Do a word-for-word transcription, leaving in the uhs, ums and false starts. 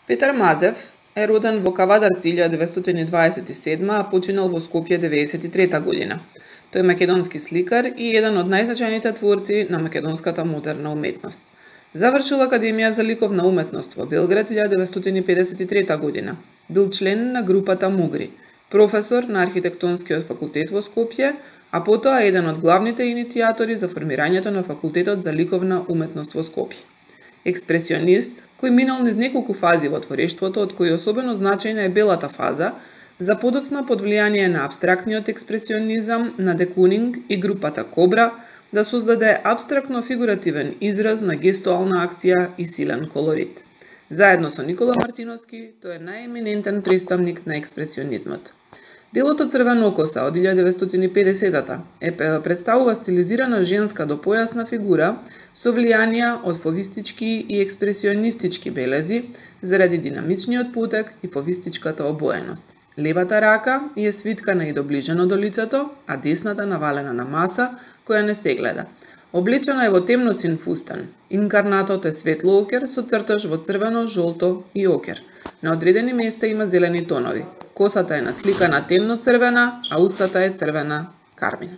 Петар Мазев е роден во Кавадарци илјада деветстотини дваесет и седма, а починал во Скопје деветдесет и трета година. Тој е македонски сликар и еден од најзначајните творци на македонската модерна уметност. Завршил Академија за ликовна уметност во Белград илјада деветстотини педесет и трета година. Бил член на групата Мугри, професор на архитектонскиот факултет во Скопје, а потоа еден од главните иницијатори за формирањето на факултетот за ликовна уметност во Скопје. Експресионист, кој минал низ неколку фази во творештвото, од кои особено значајна е белата фаза, за подоцна под влијание на абстрактниот експресионизам на де Кунинг и групата Кобра, да создаде абстрактно-фигуративен израз на гестуална акција и силен колорит. Заедно со Никола Мартиновски, тој е најеминентен представник на експресионизмот. Делото Црвено коса од илјада деветстотини и педесетата е представува стилизирана женска до појасна фигура со влијанија од фовистички и експресионистички белези заради динамичниот потек и фовистичката обоеност. Левата рака е свиткана и доближено до лицето, а десната навалена на маса која не се гледа. Облечена е во темно-син фустан. Инкарнатот е светло окер со цртаж во црвено, жолто и окер. На одредени места има зелени тонови. Косата е насликана темно-црвена, а устата е црвена кармин.